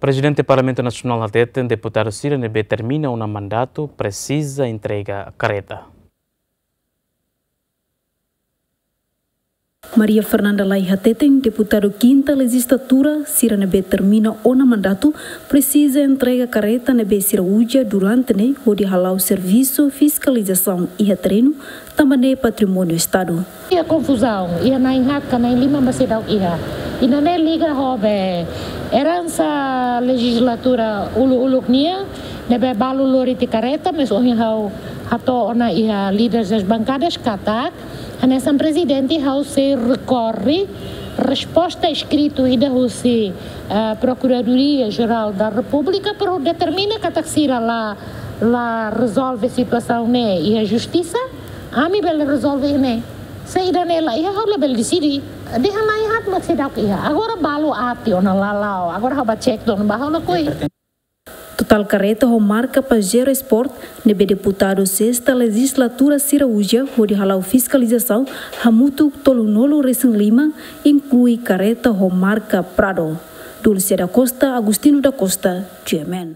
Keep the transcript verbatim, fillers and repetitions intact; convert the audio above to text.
Prezidente Parlamentu Nasionál hateten deputadu sira ne'ebé termina ona mandatu presiza entrega kareta. Maria Fernanda Lay hateten deputadu kinta lejizlatura sira ne'ebé termina ona mandatu presiza entrega kareta ne'ebé sira uza durante ne'e hodi hala'o servisu fiskalizasaun iha terrenu, tanba ne'e patrimóniu Estadu. Iha konfuzaun, iha na'in haat ka na'in lima mak seidauk iha. I nune'e liga ho be eransa lejizlatura uluk-uluk nian, ne'ebé balu lori tiha kareta, mas ohin ha'u hato'o ona iha líderes das bankadas katak, hanesan prezidente ha'u sei rekorre resposta eskritu ida husi, eh, Procuradoria Geral da República, para determina katak sira la, la rezolve situasaun ne'e iha justisa, ami bele rezolve ne'e. Se ida-ne'e la iha, ha'u labele deside. Dehan na'in haat mak seidauk iha. Agora balu aat tiha ona la la'o. Agora ha'u bá cek tiha ona, bá ha'u lakohi. Totál kareta ho marka Pajero Sport ne'ebé deputadu sesta lejizlatura sira uza hodi hala'o fiskalizasaun hamutuk tolunulu-resin-lima, inklui kareta ho marka Prado. Dulce da Costa, Agostinho da Costa, G M N.